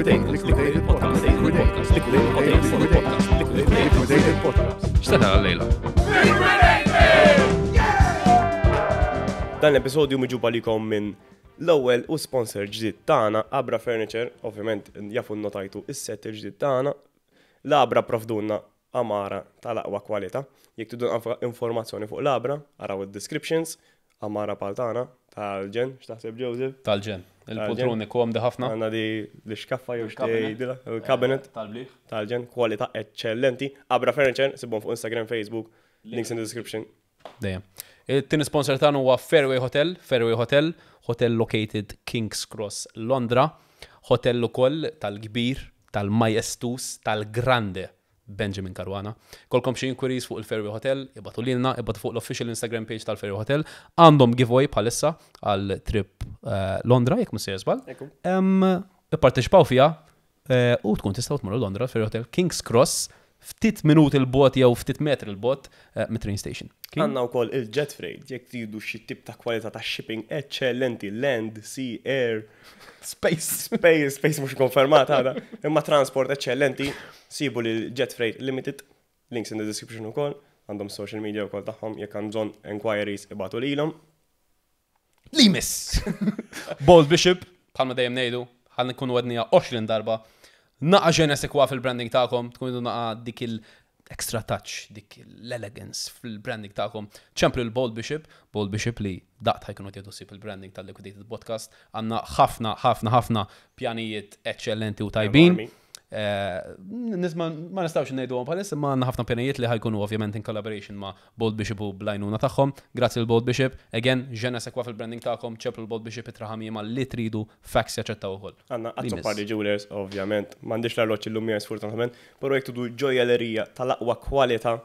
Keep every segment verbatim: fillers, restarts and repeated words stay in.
Liquidated Liquidated Podcast. Liquidated Podcast. Liquidated Podcast. X'tara għal-lejla? Dan l-episodju miġub għalikom minn l-ewwel u sponsor ġdid tagħna, Abra Furniture, ovvjament jafu notajtu is-set il-ġdid tagħna. L-Abra provdunna amara tal-aqwa kwalità. Jekk tridu informazzjoni fuq l-Abra, araw id-descriptions, amara pal tagħna tal-ġen, x'taħseb Joseph? Tal-ġen. Il-poltroni komdi ħafna. Għandna di l-xkaffa jew Il-cabinet. xtiejdilha, il-cabinet Tal-bliħ. tal-ġen, kwalità eċċellenti. Abra Furniture, sibhom fuq Instagram, Facebook, links in the description. Dejjem. Il-tieni sponsor tagħna huwa Fairway Hotel, Fairway Hotel, hotel located King's Cross, Londra, hotel ukoll tal-kbir, tal-majestus, tal-grande Benjamin Caruana. Kolkom xi inquiries fuq il-Fairway Hotel, ibatu lilna, ibatu fuq l-official Instagram page tal-Fairway Hotel. Għandhom giveaway bħalissa għal trip eh, Londra, jekk mhux sejjer żball. Ekku. Em, Ipparteċipaw fija eh, u tkun tistgħu tmorru Londra Fairway Hotel King's Cross ftit minuti l-bot jew ftit metri l-bot eh, mit-train station. Kien? Għanna wkoll il-jet freight, jekk tridu xi tip ta' kwalità ta' shipping eċċellenti, land, sea, air, Space. space, space mhux konfermat għada, imma transport eċċellenti, sibu lil Jet Freight Limited, links in the description ukoll, għandhom social media wkoll tagħhom, jekk hemm bżonn enquiries ibatu lilhom. Limis! Bold Bishop, bħalma dejjem ngħidu, ħan nkunu għednija għoxrin darba. Naqa je ne sais quoi fil-branding tagħkom, tkun idu naqa dik il-extra touch, dik l-elegance fil-branding tagħkom. ċemplu l-Bold Bishop, Bold Bishop li daqt ħajkunu jieħdu ħsieb il-branding tal-Liquidated Podcast. Għandna ħafna, ħafna, ħafna pjanijiet eccellenti u tajbin. Enormi. Eh, Nisma ma nistawx ngħidu għom bħalissa, ma għandna ħafna pjanijiet li ħajkunu ovvjament in collaboration ma' Bold Bishop u blajnuna tagħhom. Grazzi l Bold Bishop. Again, je ne sais quoi fil-branding tagħkom, ċemplu l-Bold Bishop itraħamima li tridu, fax jaċċettaw ukoll. Għanna Limis. Azzopardi Jewelers, ovvjament, m'għandix l-arloġġ illum miegħi sfortunatament, però jekk tridu ġojjellerija tal-aqwa kwalità,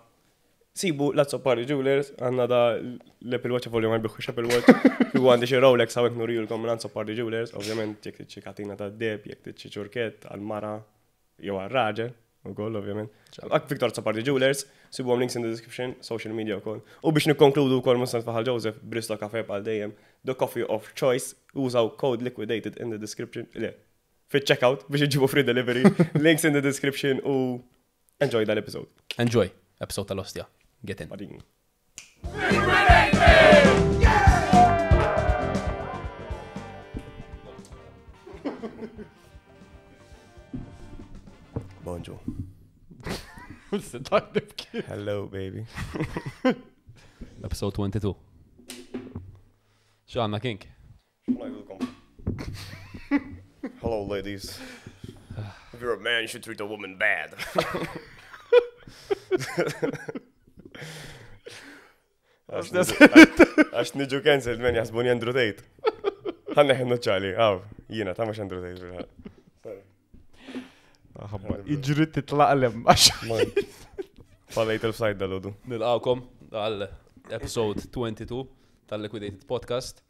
sibu l-Azzopardi Jewelers, għandna da l-Apple Watch volju ma jbiħux Apple Watch, u għandi xi Rolex hawnhekk nurijulkom minn Azzopardi Jewelers, ovvjament jekk trid xi katina ta' deb, jekk trid xi ċurkett għal-mara jew għal-raġel, ukoll ovvjament. Ak Victor Azzopardi Jewelers, sibuhom links in the description, social media ukoll. U biex nikkonkludu wkoll mhux faħal Joseph, Bristo Cafe bħal dejjem, the coffee of choice, użaw code liquidated in the description, le, fit-checkout biex iġibu free delivery, links in the description u enjoy that episode. Enjoy, episode tal-ostja. Get in. Badin. Bonjour. Hello, baby. Episode twenty-two. X'għandna King? Hello, ladies. If you're a man, you should treat a woman bad. Għax niġu cancelled, men jaħsbuni Andrew Tate. Ħanna ħennu ċali, għaw, jina, ta' mux Andrew Tate. fil-ħaq. Sorry. Iġri titlaqlem għax. Man. Fallejt il-fsajt dal-għodu. Nilqawkom għal episode twenty-two tal-Liquidated Podcast.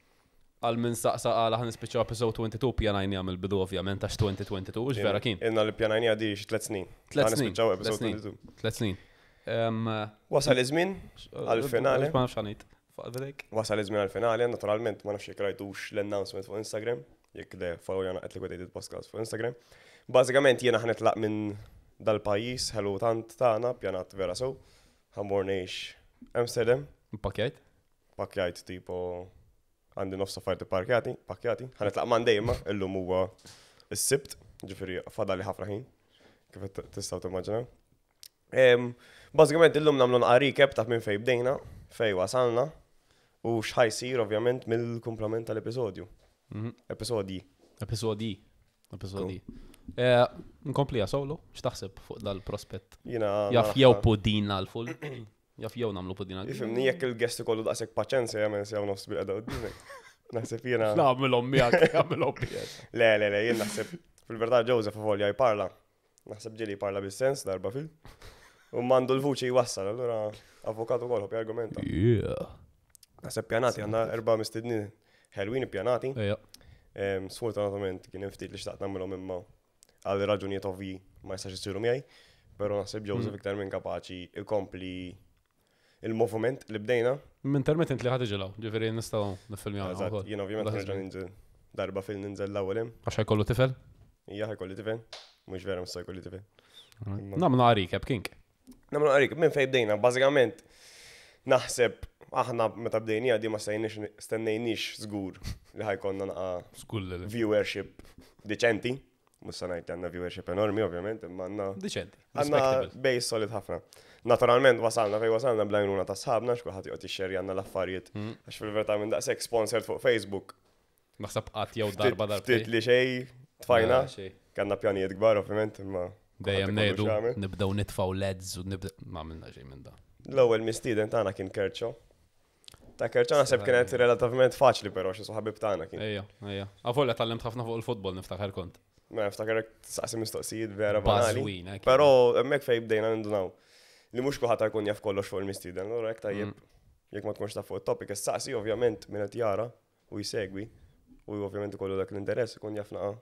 Għal min saqsa għala ħan nispiċċaw episode twenty-two pjanajni għamil bidu ovvjament għax twenty twenty-two, ux vera kien. Inna li pjanajni għadi xi tlet snin. Tlet Ħa snin. nispiċċaw Tlet episode snin. twenty-two. Tlet snin. Em, Wasal iż-żmien għal-finale. Ma nafx ħanejt. Fuq vedek. Wasal iż-żmien għal-finale, naturalment ma nafx jekk rajtux l-announcement fuq Instagram, jekk le follow jana at Liquidated Podcast fuq Instagram. Bażikament jiena ħanitlaq minn dal-pajjiż ħelu tant tagħna pjanat vera sew. Ħammur ngħix Amsterdam, Pakjajt? pakjajt tipo għandi nofs affarijiet parkjati, pakjati. Ħanitlaq Monday imma illum huwa is-Sibt, ġifieri fadali ħafna ħin, kif qed tistgħu timmaġinaw. Em, Bażikament illum nagħmlu naqra recap ta' minn fejn bdejna, fejn wasalna u x'ħajsir ovvjament mill-kumplament tal-episodju. Mhm. Episodji. Episodi. Episodi. Eh, Nkomplija solo, x'taħseb fuq dal-prospett? Jiena Jaf jew pudina l-full. Jaf jew nagħmlu pudina. Ifimni jekk il-guest ikollu daqshekk paċenzja jagħmel sew nofs bil-qeda qudiemek. Naħseb jiena. Nagħmilhom miegħek, nagħmilhom miegħek. Le, le, le, jien naħseb fil-verità Joseph avolja jparla. Naħseb ġieli jparla bis-sens darba fil. U mandu l-vuċi jwassal, allura avukat ukoll ħobb jargumenta. Yeah. Naħseb pjanati għandna erba' mistednin ħelwin ippjanati. Ejja. Em, Sfortunatament kien hemm ftit li xtaqt nagħmilhom imma għal raġunijiet ovvji ma jistax isiru miegħi, però naħseb Joseph Mm. iktar minn kapaċi ikompli il-movement li bdejna. Minn intermittent li ħad iġilaw, ġifieri nistgħu nifilmjaw Eżatt, ukoll. jien ovvjament Dak nerġa' iż-żmien. ninżel darba fil ninżel l-ewwel hemm. Għax ħajkollu tifel? Ija ħa jkolli tifel. Mhux vera mhux se jkolli tifel. Nagħmlu recap, King. Nagħmlu recap, minn fejn bdejna, bażikament naħseb aħna meta bdejnija di ma stennejniex stennejniex żgur li ħa jkollna naqa Skull li. viewership diċenti. Mhux se ngħid li għandna viewership enormi, ovvjament, imma għandna Diċenti. għandna Respectable. base solid ħafna. Naturalment wasalna fej wasalna bl-għajnuna ta' sħabna, xkulħadd joqgħod jixxerja għandna l-affarijiet. Mm. Għax fil-verità minn daqshekk sponsored fuq Facebook. Naħseb qatt jew darba darba. Ftit li xej tfajna, kellna pjanijiet kbar ovvjament, imma Dejjem kulħadd ikollu ngħidu x'jagħmel. nibdew nitfgħu L E Ds u nibdew ma għamilna xejn minn da. L-ewwel mistieden tagħna kien Kerċo. Ta' Kerċo naħseb kienet relattivament faċli però xi ħabib tagħna kien. Ejja, ejja. Avolja tgħallimt ħafna fuq il-futbol niftakar kont. Ma niftakar saqsi mistoqsijiet vera banali. Bażwin, eh, kien. Però hemmhekk fejn bdejna nindunaw li mhux kulħadd jkun jaf kollox fuq il-mistieden, allura hekk tajjeb Mm. jekk ma tkunx taf fuq it-topic issaqsi ovvjament min qed jara u jsegwi u ovvjament ikollu dak l-interess ikun jaf naqa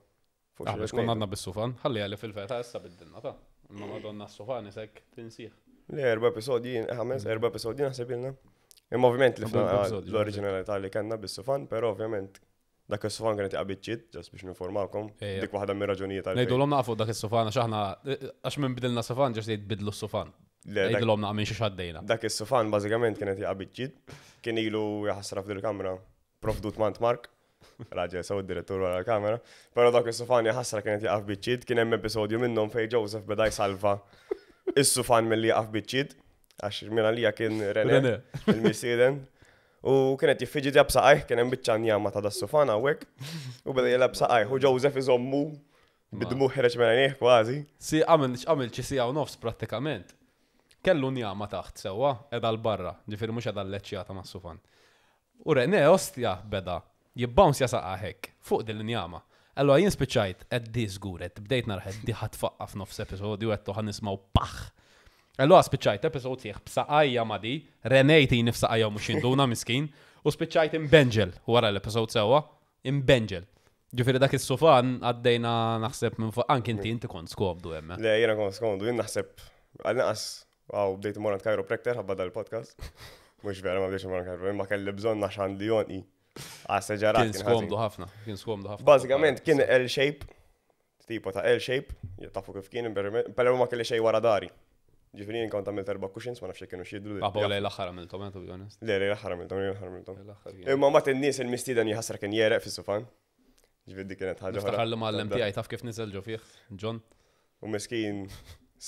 fuq Aħna xi xkonna għadna bis-sufan, ħalli għalli fil-feta issa biddilna ta'. Imma madonna s-sufan isek tinsih. Le erba' episodji, ħames, erba' episodji naħseb ilna. Imma ovvjament li Erba' fna episodji, l-oriġinalità li kellna bis-sufan, però ovvjament dak is-sufan kienet jaqa' just biex ninformawkom, Ejja. dik waħda mir-raġunijiet għalfejn. Ngħidulhom nafu dak is-sufan għax aħna għax minn bidilna sufan ġast jgħid bidlu s-sufan. Le, dak- Ngħidulhom naqa' minn xi xaddejna. Dak is-sufan bażikament kienet jaqa' biċċiet, kien ilu jaħsra f'dil kamra provdut mant Mark, raġel sew id-direttur wara l-kamera, però dak is-sufan jaħsra kienet jaqa' biċċiet, kien hemm episodju minnhom fejn Joseph beda jsalva is-sufan milli jaqa' biċċiet, għax minn għalija kien René, il-mistieden. U kienet jiffiġi jab saqajh, kien hemm biċċa njama ta' das-sufan hawnhekk, u beda jilgħab saqajh, u Joseph iżommu bid-dmugħ ħereġ minn għajnejh kważi. Si għamil għamil xi siegħa u nofs prattikament. Kellu njama taħt sewwa edha l-barra, ġifieri mhux edha l-leċċjata mas-sufan. U René ostja beda jibbounce jasaqa hekk fuq din l-njama. Allora jien spiċċajt qed di żgur qed bdejt narħed di ħa tfaqqa f'nofs episodju qed ħa nismgħu paħ. Allora spiċċajt episod sieħ b'saqajja ma di, René jtini f'saqajja u mhux jinduna miskin, u spiċċajt imbenġel wara l-episod sewwa, imbenġel. Ġifieri dak is-sufan għaddejna naħseb minn fuq anki inti inti kont skomdu hemm. Le, jiena kont skomdu, jien naħseb għal naqas, għaw, bdejt immur għand chiropractor ħabba dal-podcast. Mhux vera ma bdejtx immur għand chiropractor, imma kelli bżonn għax għandi jonqi. Għas ġarat Kien kien skomdu ħażin. ħafna, kien skomdu ħafna. Bażikament kien L-shape, tipo ta' L-shape, tafu kif kien, però ma kelli xejn wara dari. Ġifieri jien kont għamilt erba' cushions, ma nafx jekk kienu xidru. Għabaw lej l-aħħar għamiltom, eh, to be honest. Le, le, l-aħħar għamiltom, le, l-aħħar għamiltom. L-aħħar kien. Imma mat in-nies il-mistieden jħassra kien jereq fis-sufan. Ġifieri dik kienet ħaġa oħra. Niftakar li mal tiegħi taf kif niżel ġo fih, John. U miskin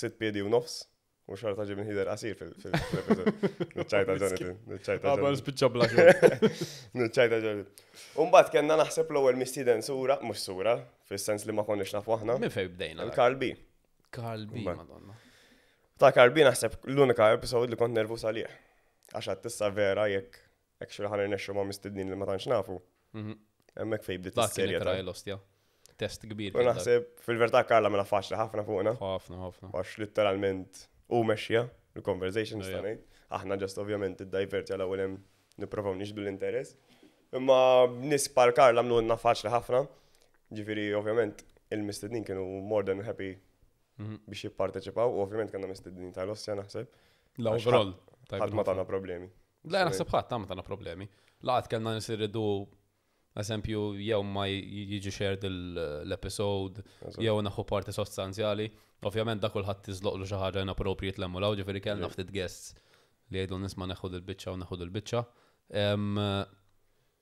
sitt piedi u nofs. U xorta ġib nħider qasir fil-episod. Nċajta Jonathan, nċajta Jonathan. spiċċa bla Nċajta Jonathan. Umbagħad kellna naħseb l-ewwel mistieden sura, mhux sura, fis-sens li ma konniex nafu aħna. Minn fejn bdejna? dak? Il-Carl B. Carl B, Mbagħad. madonna. Ta' Carl B naħseb l-unika episod li kont nervus għalih. Għax għad tissa vera jekk actually ħa nirnexxu ma' mistednin li ma tantx nafu. Mhm. Hemmhekk fejn bdiet Dak kien is-serje ta' it-trial ostja. Test kbir. U kien dak. naħseb fil-verità Karla mela faċli ħafna fuqna. Ħafna, ħafna. Għax literalment u mexxija il-conversation Ejja. sta ngħid. Aħna just ovvjament id-diverti għal ewwel hemm nipprovaw nixbdu l-interess. Imma nies bħal Karla għamlu faċli ħafna. Ġifieri ovvjament il-mistednin kienu more than happy Mhm. biex jipparteċipaw u ovvjament kellna mistednin tal-ossja naħseb. La Għax overall. Ħadd ma tana problemi. Le, naħseb ħadd ma tana problemi. Laqat kellna nisirridu eżempju, jew ma jiġi shared l-episode, jew naħu parti sostanzjali. Ovvjament da kulħadd tiżloqlu xi ħaġa inappropriate lemmu law, ġifieri kellna ftit guests li jgħidu nisma' neħu dil-biċċa u neħu dil-biċċa. Em,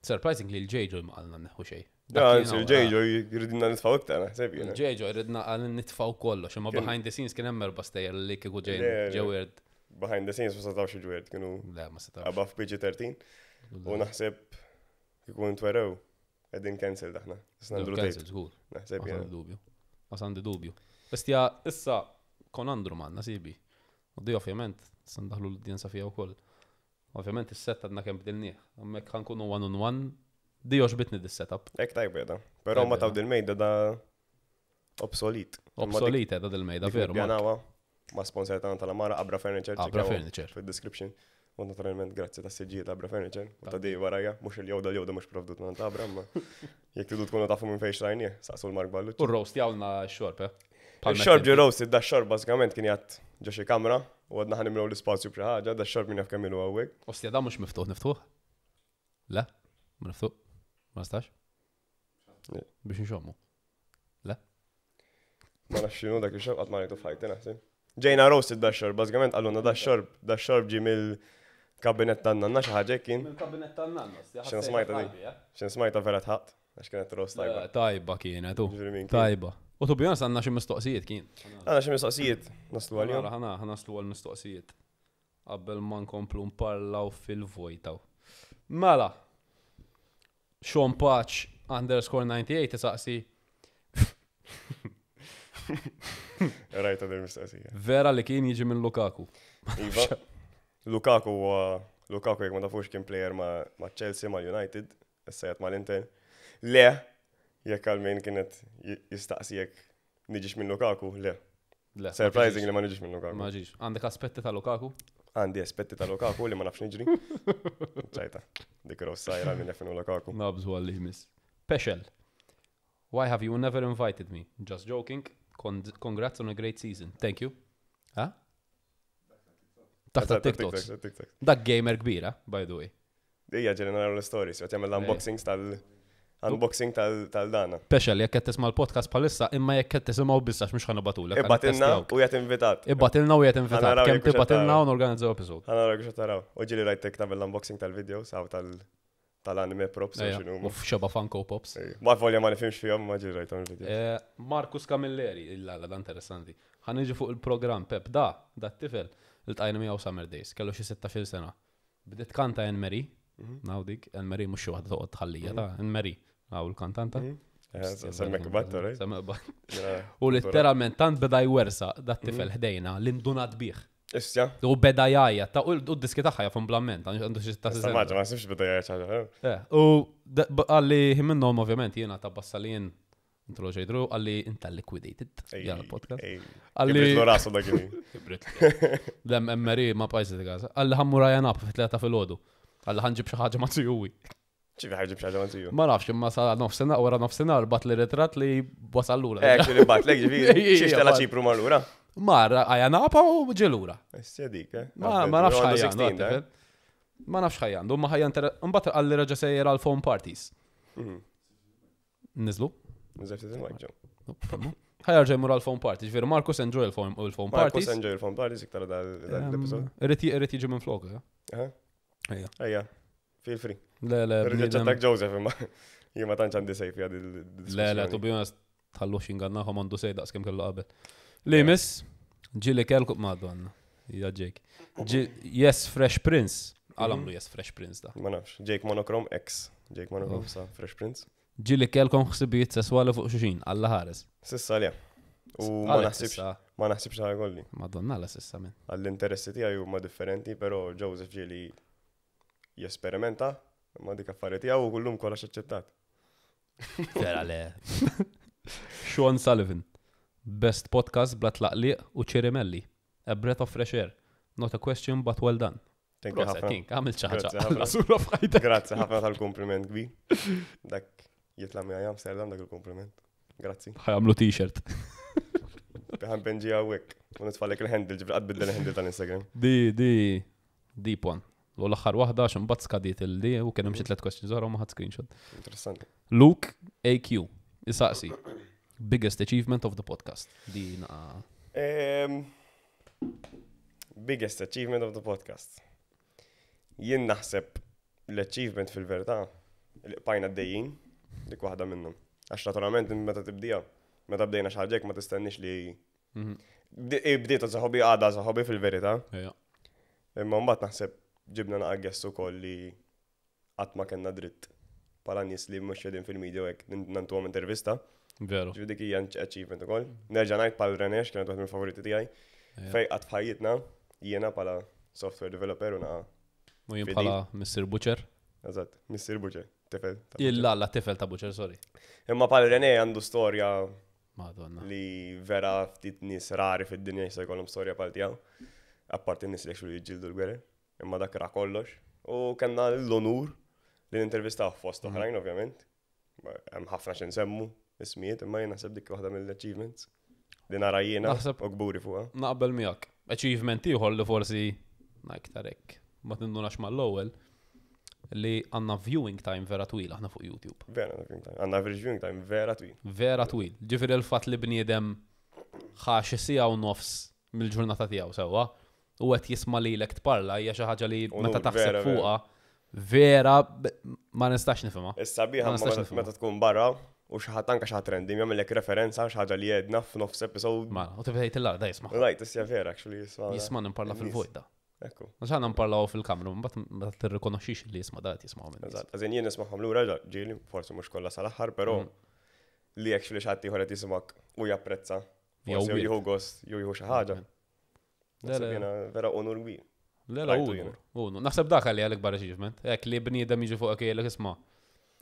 Surprisingly l-J J ma qalna neħu xejn. Ja, anzi, il-J J jridna nitfaw iktar, naħseb jiena. Il-J J ridna għal nitfaw kollox, imma Kien- behind the scenes kien hemm erba' stejjer li kieku ġejn Le, le. ġew weird. Behind the scenes ma setawx jiġu kienu Le, ma setawx. above P G thirteen u naħseb kieku ntwerew qegħdin cancel daħna. Issa nandru Cancel, tape, żgur. naħseb Ma jiena. għandi dubju. Ma għandi dubju. Bestja, issa kon Andrew manna sibi. U di ovvjament, issa ndaħlu l-udjenza fija wkoll. Ovvjament is-set għadna kemm bdilnieh. Hemmhekk ħa nkunu one on one. Di oġbitni dis-setup. Ek tajba jeda. Però ma Tajba, taw dil-mejda da obsolet. Obsolete da dil-mejda, veru. Mark. Pjanawa ma sponsor tagħna tal-Amara, Abra Furniture. Abra ċekkjaw Furniture. fid-description. U naturalment grazzi ta' siġġijiet ta' Abra Furniture. U ta' di warajja, mhux il-jowda l-jowda mhux provdut minn ta' Abra, ma jekk tridu tkunu tafu minn fejn xrajnieh, saqsu l-Mark Ballucci. U roast jawna x-xorb, eh? Il-xorb ġi roasted, da xorb bażikament kien jgħat ġo xi kamra u għadna ħa nimlew l-ispazju b'xi ħaġa, da xorb min jaf kemm ilu hawnhekk. Ostja, da mhux miftuħ, niftuħ? Le? Ma niftuħ? Ma nistax? Le. Biex nxommu. Le? nafx x'inhu dak ix-xorb, qatt ma rajtu f'ħajti naħseb. Ġejna roasted da xorb, bażikament qalulna da xorb, da xorb ġi mill-kabinet tan-nanna, xi ħaġa hekk kien. Mill-kabinet tan-nanna. X'in smajta di? X'in smajta vera tħatt, għax kienet roast tajba. Tajba kienet, u. Ġifieri min kien. Tajba. U to be honest, għandna xi mistoqsijiet kien. Għandna xi mistoqsijiet naslu għalihom. Ħana ħa naslu għal mistoqsijiet. Qabel ma nkomplu nparlaw fil-vojtaw. Mela. Sean Patch underscore ninety-eight isaqsi Rajta din mistoqsija. Vera li kien jiġi minn Lukaku? Iva. Lukaku huwa Lukaku, jekk ma tafux, kien player ma' ma' Chelsea, ma' United, issa jgħid mal-Inter. Le, jekk għal min kienet j- jistaqsi jekk niġix minn Lukaku, le. Le. Surprising li ma niġix minn Lukaku. Ma ġiġ. Għandek aspetti ta' Lukaku? Għandi aspetti ta' Lukaku li ma nafx niġri. ċajta. Dik rossajra minn jafinu Lukaku. Nabżu għalli jmiss. Pexel. Why have you never invited me? Just joking. Con congrats on a great season. Thank you. Ha? Taħt TikToks. TikTok. Dak gamer kbira, by the way. Ija ġeli naraw l-stories, jgħat jagħmel l-unboxings tal- unboxing tal- tal-dana. Pexel, jekk qed tisma' l-podcast bħalissa, imma jekk qed tisimgħu biss, għax mhux ħa nibagħtulek. Ibgħatilna u jgħat invitat. Ibgħatilna u jgħat invitat. Ħa naraw Kemm jekk hux qed tibgħatilna taraw. u norganizzaw episode. Ħa naraw kux taraw. U ġili rajtek tagħmel l-unboxing tal-videos għaw tal- tal-anime props u Ejja, x'inhu. U f'xeba Funko Pops. Ma volja ma nifhimx fihom, ma ġili rajthom il-videos. Eh, Marcus Camilleri, illa la, da interessanti. Ħa niġi fuq il-program, Pep, da, da t-tifel, iltqajna miegħu Summer Days, kellu xi sittax-il sena. Bdiet kanta Anne Marie, Mhm. naw dik, Anne Marie mhux xi waħda toqgħod tħallija ta' Anne Marie, naw il-kantanta. Mhm. Eh, Semmek battu, right? Semmek battu. Jena- U letteralment tant beda jwersa da t-tifel Mhm. ħdejna li ndunat bih. Issja, U beda jgħajja, ta' u d-diski tagħha jafhom bl-amment, għandu xi sittax-il issa sena. maġa, ma sibx beda jgħid ħaġa. Eh, u da- b- għalli minnhom ovvjament jiena ta' bassalien intro ġejdru, għalli inta liquidated jgħal podcast. Għalli Għalli. Rasu dak il Kibrit. Lem emmeri ma pajzi di. Għalli ħa mmur Ayia Napa fit-tlieta filgħodu. Għalli ħa nġib xi ħaġa ma' zijuwi. ċivi ħa jġib xi ħaġa ma' ziju. Ma nafx, imma sa nofsinhar, wara nofsinhar bagħat li ritrat li wasal lura. Eh, actually bagħatlek ġifieri. Ija, Xiex tela bat. Ċipru mar lura. Mar Ayia Napa u ġie lura. Issja dik, eh. Ma ma nafx Għandu ħajja sittax, għandu. Ma nafx ħajja għandu, ma ħajja inter. Mbagħad għalli reġa' sejjer għal phone parties. Mhm. Niżlu? Nżef tisimgħek ġo. Ħa jerġa' jmur għal phone parties. Ġifieri Marcus enjoy il-phone il-phone Marcus parties. enjoy il-phone parties iktar dal-episode. Irrid irrid jiġi minn flok, eh? Aha. Ejja. Ejja, feel free. Le, le, Rridġa bniedem- ċattak Joseph imma. Jien ma tantx għandi sejf għad Le, le, to be honest, tħallux jingannaħom, għandu sej daqs kemm kellu qabel. Li miss, ġili kelku, madonna, ja Jake. Ġi- Yes, Fresh Prince. Għalamlu Yes, Fresh Prince da. Ma nafx. Jake Monochrome X. Jake Monochrome sa Fresh Prince. Ġili kelkom ħsibijiet sesswali fuq xuxin, Alla ħares. S'issa le. U ma Għalek naħsibx s'issa. Ma naħsibx ħa jkolli. Madonna, la s'issa minn. Għall-interessi tiegħi huma differenti, però Joseph ġieli jesperimenta ma dik affari tiegħu u kullum kollox aċċettat. Vera le. Sean Sullivan. Best podcast bla tlaqliq u ċirimelli. A breath of fresh air. Not a question, but well done. Thank you Proset, ħafna. King, għamil xi ħaġa. Grazzi ħafna. Alla sura f'ħajtek. Grazzi ħafna tal-kompliment kbir. Dak jitla' miegħi Amsterdam dak il-kompliment. Grazzi. Ħa jagħmlu t-shirt. Biħan benġi għawek. U nitfallek il-handle, ġibri biddel il-handle tal-Instagram. Di, di, deep one. U l-aħħar waħda għax imbagħad skadiet il-di u kien hemm xi tliet questions oħra u ma ħadd screenshot. Interessanti. Luke A Q isaqsi. Biggest achievement of the podcast. Di naqa. Em, biggest achievement of the podcast. Jien naħseb l-achievement fil-verità li bqajna għaddejjin, dik waħda minnhom. Għax naturalment meta tibdija, meta bdejna xi ħaġa hekk ma tistenniex li Mhm. Bdi- bdiet saħobi għada saħobi fil-verità. Ejja. Imma mbagħad naħseb ġibna naqa guests ukoll li qatt ma kellna dritt bħala nies li mhux qegħdin fil-media u hekk nantuhom intervista. Veru. Ġifieri dik hija achievement ukoll. Nerġa' ngħid pal Renex kienet waħda mill-favoriti tiegħi. Ejja. Fej qatt f'ħajjitna jiena bħala software developer u naqa U jien Fidi. bħala Mister Butcher. Eżatt, Mister Butcher, tifel ta' Butcher. Illa la tifel ta' Butcher, sorry. Imma pal René għandu storja Madonna. li vera ftit nies rari fid-dinja jista' jkollhom storja bħal tiegħu. Apparti n-nies li actually jiġġieldu l-gwerer. Imma dak ra kollox. U kellna l-onur li nintervistaw fost Mhm. oħrajn ovvjament. Hemm ħafna xi nsemmu ismijiet, imma jien naħseb dik waħda mill-achievements li nara jiena Naħseb- u kburi fuqha. Naqbel miegħek. Achievement ieħor li forsi na iktar hekk ma tindunax mal-ewwel li għandna viewing time vera twil aħna fuq YouTube. Vera, viewing time. Għandna average viewing time vera twil. Vera twil. Ġifieri l-fatt li bniedem Ħa xi siegħa u nofs mill-ġurnata tiegħu sewwa u qed jisma' lilek tparla hija xi ħaġa li Unur, meta taħseb vera, fuqha vera b- ma nistax nifhimha. Issa biħa Ma nistax nifhimha. meta tkun barra u xi ħadd anke xi ħadd random jagħmellek referenza xi ħaġa li jedna f'nofs episode. Mela, u tibda tgħid il da jisma'. Right, issja vera actually jisma'. Jisma' nimparla Nies. fil-vojt da. Ekku. Għax aħna nparlaw fil-kamra, mbagħad ma tirrikonoxxix li jisma' da qed jisma'w minn. Eżatt, għazin jien nismagħhom lura ġieli, forsi mhux kollha sal-aħħar, però Mm. li actually xi ħadd ieħor qed jisimak u japprezza. Jew Forsi jew weird. jieħu gost, jew jieħu xi ħaġa. Le, Naħseb le. jiena vera onur kbir. Le, le, Rajtu unur, jiena. unur. Naħseb dak għalli għal-ikbar achievement. Ek li bniedem jiġi fuq jgħidlek isma'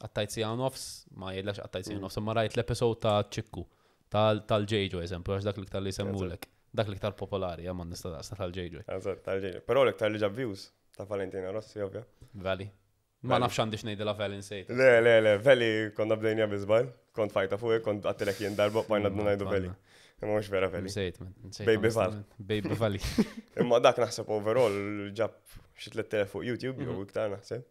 qattajt siegħa nofs, ma jgħidlekx qattajt siegħa Mm. nofs, imma rajt l-episode ta' ċikku, tal-J J eżempju, għax dak l-iktar li semmulek. Dak l-iktar popolari, ma nista daqsna tal-J J. Eżatt, tal-ġejja. Però l-iktar li ġab views ta' Valentina Rossi, ovvja. Vali. Ma Vali. nafx għandix ngħidilha Vali nsejt. Le, le, le, Veli konna bdejnija bi żball, kont fajta fuq, kont għattilek jien darba, bajna għadna ngħidu Veli. Imma mhux vera Veli. Nsejt, man. Nsejt, Baby Val. onestament. Baby Vali. Imma dak naħseb overall ġab xi tliet elef fuq YouTube jew Mhm. iktar naħseb.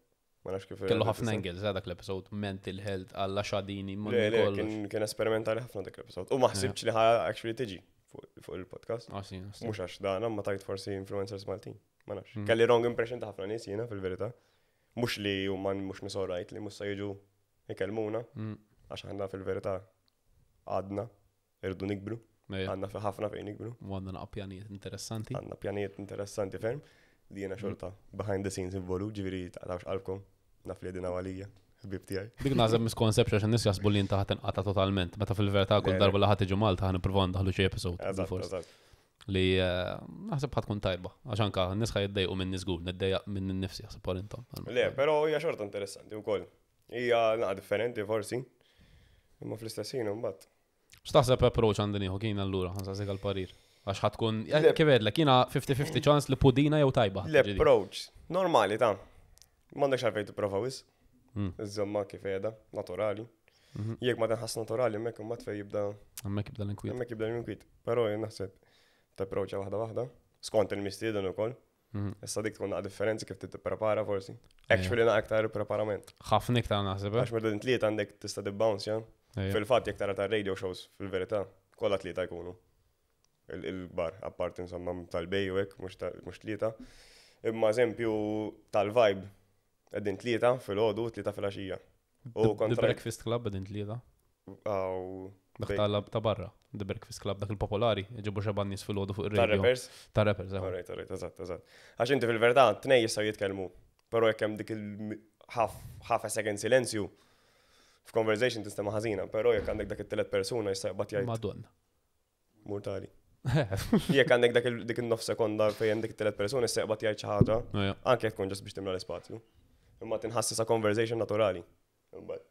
Ma nafx kif. Kellu ħafna angles, eh, dak l-episode, mental health, għalla xadini, ma Le, le, kollox. kien kien esperimentali ħafna dak l-episode. U ma ħsibx li ħa actually tiġi fuq fuq il-podcast. Ah, sì, sì. Mhux għax dan, ma tajt forsi influencers Maltin. Ma nafx. Mm. Kelli wrong impression ta' ħafna nies jiena fil-verità. Mhux li huma mhux nies alright li mhux se jiġu ikellmuna Mm. għax aħna fil-verità għadna irdu nikbru, Ejja. għadna fi ħafna fejn nikbru, U għandna naqa pjanijiet interessanti. għandna pjanijiet interessanti ferm li jiena xorta behind the scenes involut, ġifieri taqtawx qalbkom, naf li dina għalija, ħbib tiegħi. Dik naħseb misconception għax in-nies jaħsbu li inta ħa tinqata totalment, meta fil-verità kull Le, le. darba li ħa tiġu Malta ħa nippruvaw ndaħlu xi episode Eżatt, bil-fors. eżatt. Li eh, naħseb ħa tkun tajba. Għax anka n-nies ħa jiddejqu minn żgur, niddejjaq minn nifsi jaħseb għal intom. Le, però hija xorta interessanti wkoll. Hija naqa differenti forsi, imma fl-istess ħin imbagħad. X'taħseb approach għandi nieħu kien allura, ħa nsaqsik għal-parir. Għax ħa tkun, Le- kif għedlek, jiena fifty fifty chance li pudina jew tajba. L-approach, normali ta' m'għandekx għalfejn tipprova wisq, Mm. iżomma kif qiegħda, naturali. Mhm. Jekk ma tinħass naturali, hemmhekk imbagħad fejn jibda Hemmhekk jibda l-inkwiet. hemmhekk jibda l-inkwiet. Però jien naħseb tapproacha waħda waħda, skont il-mistieden ukoll. Mhm. Issa dik tkun naqa differenzi kif tipprepara forsi. Actually naqa aktar preparament. Ħafna iktar naħseb, eh? Għax meta tlieta għandek tista' tibbounce, ja. Ejja. Fil-fatt jekk tara tar-radio shows fil-verità, kollha tlieta jkunu. Il- Il-bar, apparti insomma tal-bej u hekk, mhux ta- mhux tlieta. Imma eżempju tal-Vibe, qegħdin tlieta fil-għodu u tlieta fil-għaxija. U The- The kontra Breakfast Club qegħdin tlieta. Aw, Dak Bej. tal ta' barra, The Breakfast Club, dak il-popolari, ġibu xeba nies fil-għodu fuq ir-radio. tar-rappers. Ta' rappers, eħe. Alright, alright, eżatt, eżatt. Għax inti fil-verità tnej jistgħu jitkellmu, però jekk hemm dik il half half a second silenzju f'conversation tista' ħażina, però jekk għandek dak it-tielet persuna jista' jaqbad jgħid Madonna. mortali. Jekk għandek dak il- dik in-nof sekonda fejn dik it-tielet persuna jista' jaqbad jgħid xi ħaġa, Ejja. anke jekk tkun just biex timla l-ispazju. Imma tinħassisa conversation naturali. Imbagħad.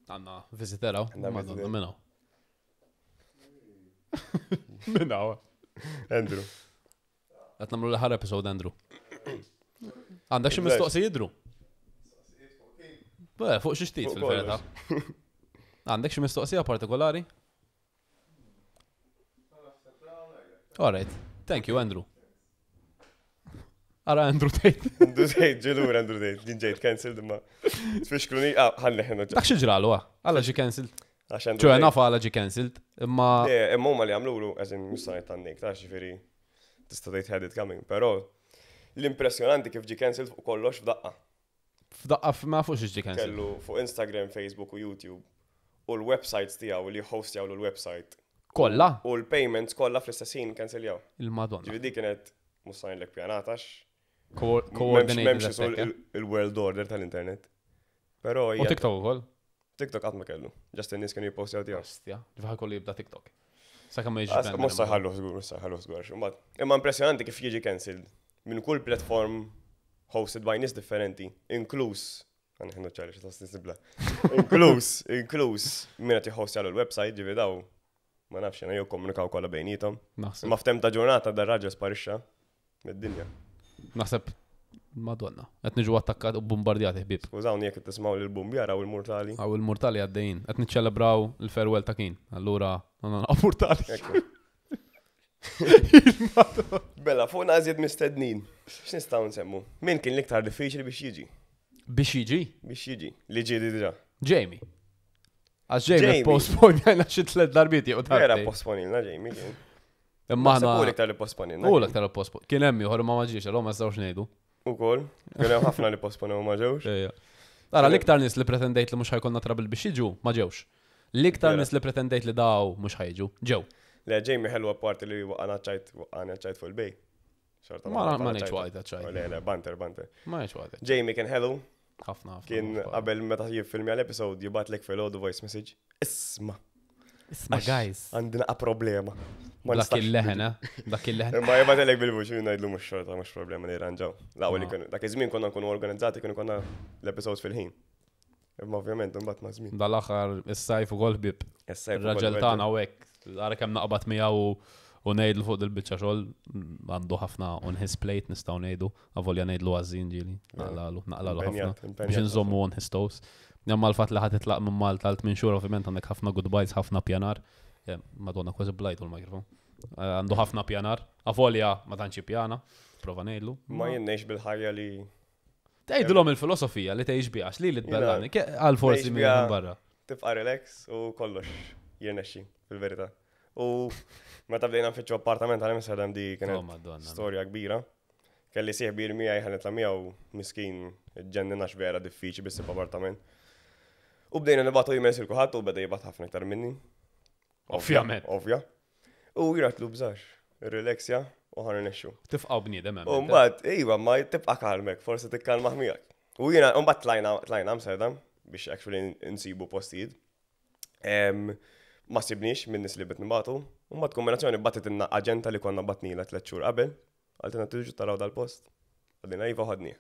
Għandna visitor hawn. Għandna Madonna, visitor. minnaw. Minnaw. Andrew. Qed nagħmlu l-aħħar episode, Andrew. Għandek xi Exact. mistoqsijiet, Drew? Beh, fuq xi xtit Fuq fil-verità. Għandek xi mistoqsija partikolari? Alright. Thank you, Andrew. Ara Andrew Tate. Andrew Tate, ġilur Andrew Tate, ġin ġejt cancelled imma. Tfixkluni, ah, ħalli ħna Dak xi ġralu, ah? Għala ġi cancelled. Għax Andrew ċoħe Tate. nafa għala ġi cancelled, imma Le, imma huma li għamlulu, eżin, mhux ngħid tan-nik, ta' ġifieri tista' tgħid had it coming, però l-impressjonanti kif ġi cancelled fuq kollox f'daqqa. F'daqqa ma fuq xi ġi cancelled. Kellu fuq Instagram, Facebook u YouTube u l-websites tiegħu li hostjaw l-website Kollha? u l-payments kollha fl-istess ħin canceljaw. Il-Madonna. Ġifieri dik kienet mhux ngħidlek pjanatax. Co- Coordinated M'hemmx isu attack, eh? il- il-world order tal-internet. Però U hija TikTok ukoll. TikTok qatt ma kellu. Just in-nies kienu jippostjaw tiegħu. Ostja, ġifa kollu jibda TikTok. Sakemm ma jiġi. Mhux se jħalluh żgur, mhux se jħalluh żgur. għax imbagħad- Imma impressjonanti kif jiġi cancelled minn kull platform hosted by nies differenti, inkluż għan ħennu ċari xi tasnibla. Inkluż, inkluż min qed jħostja l-website ġifi daw ma nafx jiena jew komunikaw kollha bejnietom. Naħseb. Imma f'tem ta' ġurnata dar raġel sparixxa mid-dinja. Naħseb Madonna. Qed niġu attakkat u bombardjati ħbieb. Skużawni jekk qed tisimgħu lil bumbjara u l-mortali. Għaw il-mortali għaddejjin. Qed niċċelebraw il-farewell ta' kien. Allura, għandna naqgħu mortali. Ekku. Bella, fuq nażjed mistednin. X'nistgħu nsemmu? Min kien l-iktar diffiċli biex jiġi? Biex jiġi? Biex jiġi. Li ġi diġà. Jamie. Għax Jamie Jamie. postpone għajna xi tliet darbiet jew Vera darbtejn. posponilna Jamie kien. Imma Naħseb u aħna. l-iktar li posponina. U l-aktar pospo. Kien hemm ieħor ma ma ġiex, allura ma nistgħux ngħidu. Ukoll, kien hemm ħafna li posponew ma ġewx. Ejja. Ara, l-iktar nies li pretendejt li mhux ħa jkollna trouble biex jiġu, ma ġewx. L-iktar Vera. nies li pretendejt li daw mhux ħa jiġu, ġew. Le, Jamie ħelwa parti li waqana ċajt, waqana ċajt fuq il-bej. Xorta Ma ma waqana ngħidx ċajta. waqgħet ċajt. Le, le, banter, banter. Ma ngħidx waqgħet. Jamie kien ħelu, Ħafna ħafna. kien ħafna. qabel meta jiffilmja l-episode jibgħatlek fil-ħodu voice message. Isma, Isma' guys. għandi naqa problema. Ma Dak nistax il-leħen, eh? Dak il-leħen. Imma jibgħatlek bil-vuċi ngħidlu mhux xorta mhux problema li ranġaw. L-ewwel li Ah. kienu dak iż-żmien konna nkunu organizzati kienu konna l-episodes fil-ħin. Imma ovvjament imbagħad ma' żmien. Dal-aħħar is-sajf ukoll ħbieb. Is-sajf ukoll Ir-raġel weġġa. tagħna u hekk, ara kemm naqbad miegħu u ngħidlu fuq dil-biċċa xogħol għandu ħafna on his plate nistgħu ngħidu, avolja ngħidlu għażin ġieli, naqlalu, naqlalu ħafna. Impenjat, impenjat Biex nżommu on his toes. Imma l-fatt li ħa titlaq minn Malta għal tmien xhur ovvjament għandek ħafna goodbyes, ħafna pjanar. Eh, Madonna kważi blajtu l-mikrofon. Eh, Għandu ħafna pjanar. Avolja ma tantx pjana, prova ngħidlu. Ma jien ngħix bil-ħajja li Tgħidulhom il-filosofija li tgħix biha, li li tbellani, għal forsi Ngħix minn biha- barra. tibqa' relax u kollox jirnexxi fil-verità. U meta bdejna nfittxu appartament għal Amsterdam di Oh, kienet Madonna. storja kbira. Kelli sieħbi miegħi ħa nitla' miegħu miskin ġennina vera diffiċli biex issib appartament. U bdejna nibgħatu emails il kulħadd u beda jibgħat ħafna iktar minni. Ovvjament. Ovvja. U jiratlu bżax, relaxja u ħa nirnexxu. Tifqaw bniedem hemm. U mbagħad, iva, ma tibqa' kalmek, forsi tikkalma miegħek. U jiena mbagħad tlajna tlajna Amsterdam biex actually nsibu postijiet. Em, Ma sibniex minn nies li bit nibatu. U mbagħad kombinazzjoni bagħtitilna aġenta li konna bgħatnilha tliet xhur qabel. Qaltilna tiġu taraw dal-post. Għadina iva ħadni.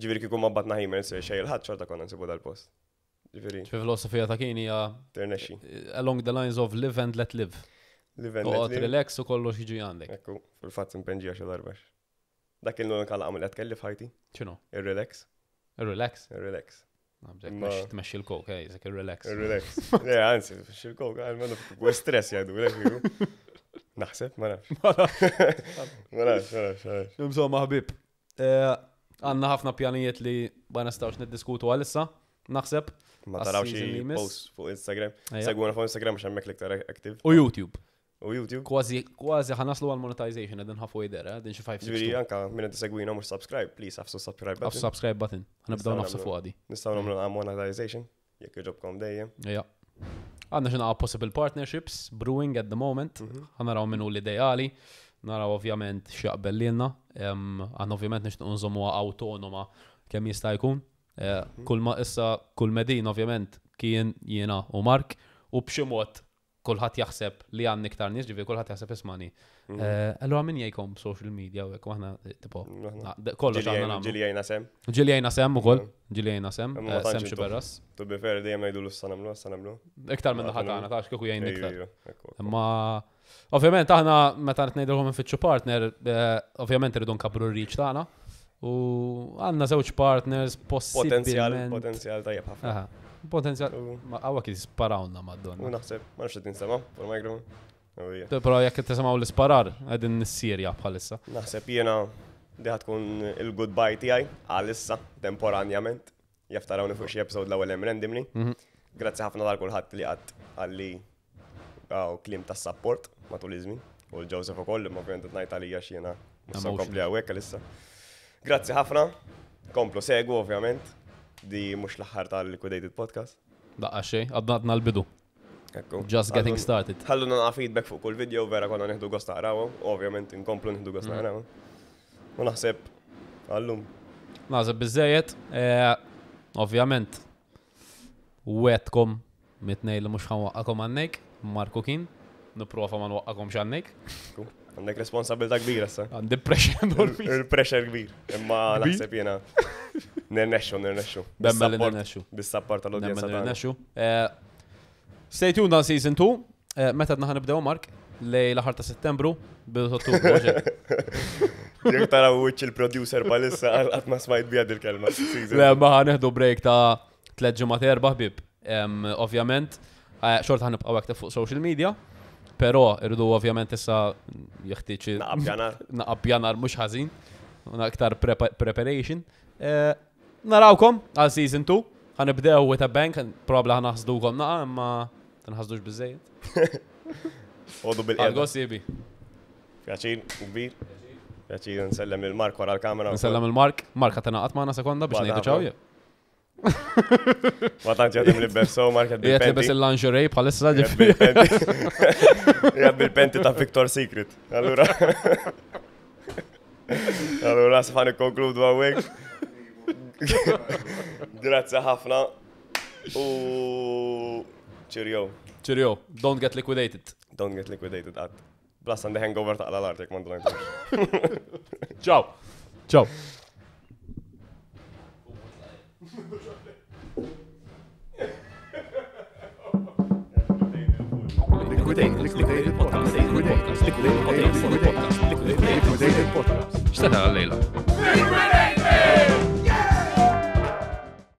Ġifieri kieku ma bgħatna emails xejn il-ħadd xorta konna nsibu dal-post. Ġifieri Fi filosofija ta' kien hija tirnexxi. along the lines of live and let live. Live and let Toqgħod live. relax u kollox jiġi għandek. Ekku, fil-fatt impenġija xi darba. Dak il-nunika laqam li qed kelli f'ħajti, X'inhu? ir-relax, Ir-relax. ir-relax. Nabżek, Ma- tmexxi l-coke, ej, zek ir-relax. Relax. Le, anzi, xil-kok, għal u stress jgħidu, le, figu. Naħseb, ma nafx. Ma nafx, ma nafx, ma nafx. Insomma, ħbib. eh, Għandna ħafna pjanijiet li ma nistgħux niddiskutu għalissa, naħseb. Ma taraw Għas-season xi li jmiss. post fuq Instagram. Ejja. Segwuna fuq Instagram għax hemmhekk l-iktar active. U YouTube. U YouTube. Kważi kważi ħa naslu għal monetization qegħdin halfway there, eh, din xi five Ġifieri anka minn qed segwina mhux subscribe, please għafsu subscribe Għaf button. subscribe button. Ħa nibdew Nistgħu nagħfsu nagħmlu. fuq għadi. Nistgħu nagħmlu monetization jekk jogħġobkom dejjem. Ja. Għandna xi naqa possible partnerships brewing at the moment. Mhm. Ħa naraw minnu l-ideali. Naraw ovvjament x'jaqbel lilna. Em, Għandna ovvjament nixtieq nżommuha autonoma kemm jista' jkun. Eh, Kull ma issa kull medin ovvjament kien jiena u Mark u b'xi mod kulħadd jaħseb li għandna iktar nies, ġifieri kulħadd jaħseb ismani. Mhm. Eh, Allura min jgħikom social media u hekk u aħna eh, tipo Aħna. ah, de- kollox Ġili aħna għajna- nagħmlu. Ġili għajna sem. Ġili għajna sem ukoll, ġili għajna sem, Imma ma eh, sem tantx xi intom. berras. To be fair, dejjem ngħidu l-issa nagħmlu, issa nagħmlu. Iktar minn Ma naħa tagħna, tax kieku jgħin iktar. Ejju, ekku, ekku. Imma ovvjament aħna meta qed ngħidulhom nfittxu partner, eh, ovvjament irridu nkabru r-reach tagħna. U għandna żewġ partners Potenzjal, possibilment. potenzjal tajjeb ħafna. Aha, Potenzjal. U Ma għawa kif sparawna u madonna. naħseb, ma nafx qed ninsema' fuq il-microphone. U hija. Però jekk qed tisimgħu l-isparar qegħdin nissirja bħalissa. Naħseb jiena di tkun il-goodbye tiegħi għalissa temporanjament. Jaf tarawni fuq xi episode l-ewwel hemm randomly. Mhm. Grazzi ħafna tal kulħadd li qatt għalli għaw kliem ta' support matul iż-żmien. U l-Joseph ukoll, imma ovvjament qed ngħid għalija x'jiena mhux se Emotional. nkompli hawnhekk għalissa. Grazzi ħafna. Komplu segu ovvjament. Di mhux l-aħħar tal-Liquidated Podcast. Daqqa xejn, għadna għadna l-bidu. Ekku. Just getting Ħallu- started. Ħallu naqa feedback fuq kull video, vera konna nieħdu gost naqrawhom, ovvjament inkomplu nieħdu gost Mhm. naqrawhom. U naħseb għallum. Naħseb biżejjed, eh, ovvjament wetkom mitnej li mhux ħa nwaqqakom għannek, Marko kien, nipprova ma nwaqqakomx għannek. Għandek responsabilità kbira issa. Għandi pressure enormi. Il-pressure kbir. Imma Kbir? naħseb jiena nirnexxu, nirnexxu. Nemmen li Bis-support- nirnexxu. Bis-support tal-udjenza Nemmen li tagħna. nirnexxu. Eh, Stay tuned on season two. Eh, Meta għadna ħa nibdew Mark? Lej l-aħħar ta' Settembru, bidu ta' Ottubru. ġej. Jekk taraw wiċċ il-producer palissa għal qatt ma smajt biha dil-kelma. Season. Le, ma ħa nieħdu break ta' tliet ġimgħat erba' ħbib. Em, Ovvjament, eh, xorta ħa nibqgħu active fuq social media, però irridu ovvjament issa jeħtieġ Naqab ġanar. naqab pjanar mhux ħażin, u aktar prepa- preparation. Eh, Narawkom għal season two, ħa nibdew with a bang, probably ħa naħsdukom naqa, imma tinħasdux biżejjed. Għodu bil-qiegħda. Għal sibi. Pjaċir, kbir. Pjaċir nsellem lil Mark wara l-kamera. Nsellem il-Mark. Mark ħa tingħaqad magħna sekonda biex Bada ngħidu ċaw. ħafna. Ma tantx jaħdem li berso, Mark qed Qiegħed libes bil-penti. il-lingerie bħalissa Qiegħed ġifieri. bil-penti. Qiegħed bil-penti ta' Victor Secret. Allura. Allura sa nikkonkludu hawnhekk. Grazzi ħafna. U cheerio. Cheerio, don't get liquidated. Don't get liquidated qatt. Plus għandi hangover ta' l-art jekk m'għandu Ciao. Ciao. Liquidated. Liquidated Podcast. Liquidated. Liquidated. Liquidated. Liquidated Podcast. X'se tara llejla? Liquidate me!